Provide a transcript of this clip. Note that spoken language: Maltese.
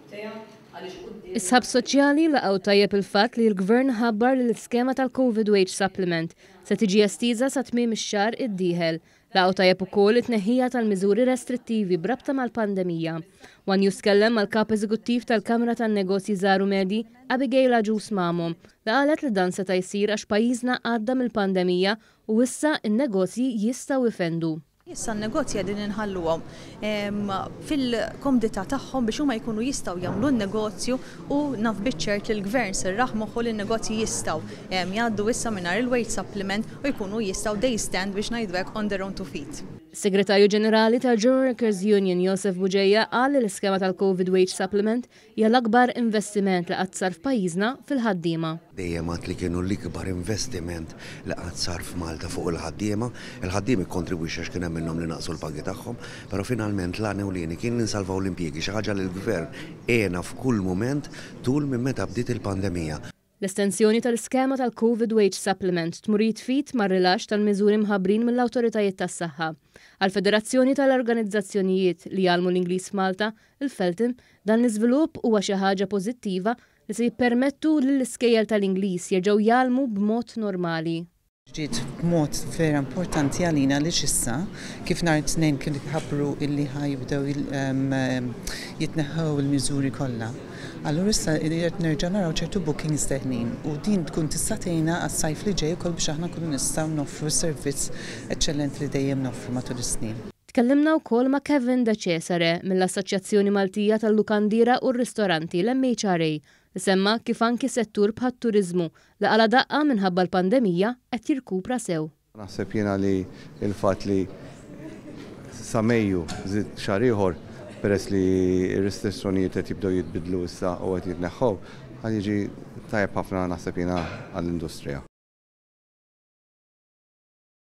Is-sħab soċjali laqgħu tajjeb il-fatt li l-Gvern ħabbar li l-iskema tal-Covid Wage Supplement se tiġi estiża sa tmiem ix-xahar id-dieħel. Laqgħu tajjeb ukoll it-tneħħija tal-miżuri restrittivi b'rabta mal-pandemija. One News tkellem mal-Kap Eżekuttiv tal-Kamra tan-Negozji Żgħar u Medji, Abigail Agius Mamo, li qalet li dan seta' jsir għax pajjiżna għadda mill-pandemija u issa n-negozji jistgħu jfendu. Issa n-negozji qegħdin inħalluhom fil-komdità tagħhom biex huma jkunu jistgħu jagħmlu n-negozju u naf biċ-ċert li l-Gvern serraħ moħħu li n-negozji jistgħu jgħaddu issa mingħajr il-wage supplement u jkunu jistgħu they stand biex ngħidu hekk on their own two feet. Is-Segretarju Ġenerali tal-General Workers Union Josef Bugeja qal li l-iskema tal-Covid Wage Supplement hija l-akbar investiment li qatt sar f'pajjiżna fil-ħaddiema. Dejjem għedt li kienu l-ikbar investiment li qatt sar f'Malta fuq il-ħaddiema. Il-ħaddiem ikkontribwixxa għax kien hemm minnhom li naqsu l-pagi tagħhom, però finalment l-għan ewlieni kien li nsalvaw l-impjiegi, xi ħaġa li l-Gvern għena f'kull mument tul minn meta bdiet il-pandemija. L-estensjoni tal-iskema tal-Covid Wage Supplement tmur id f'id mar-rilaxx tal-miżuri mħabbrin mill-awtoritajiet tas-saħħa. Għall-Federazzjoni tal-Organizzazzjonijiet li jgħallmu l-Ingliż f'Malta, il-FELTOM, dan l-iżvilupp huwa xi ħaġa pożittiva li se jippermettu lill-iskejjel tal-Ingliż jerġgħu jgħallmu b'mod normali. Ġiet b'mod vera importanti għalina għaliex issa, kif nhar it-Tnejn kien ħabbru illi ħa jibdew jitneħħew il-miżuri kollha. Allura issa qed nerġa' naraw ċertu bookings deħlin u din tkun tista' tgħinna għas-sajf li ġej ukoll biex aħna nkunu nistgħu noffru s-servizz eċċellenti li dejjem noffru matul is-snin. Tkellimna wkoll ma' Kevin De Cesare mill-Assoċjazzjoni Maltija tal-Lukandiera u r-Ristoranti, l-MHRA, li semma kif anki settur bħat-turiżmu li qala' daqqa minħabba l-pandemija qed jirkupra sew. Naħseb jiena li l-fatt li sa Mejju żied xahar ieħor peress li r-restrizzjonijiet qed jibdew jitbiddlu issa u qed jitneħħew, ħa jiġi tajjeb ħafna naħseb jiena għall-industrija.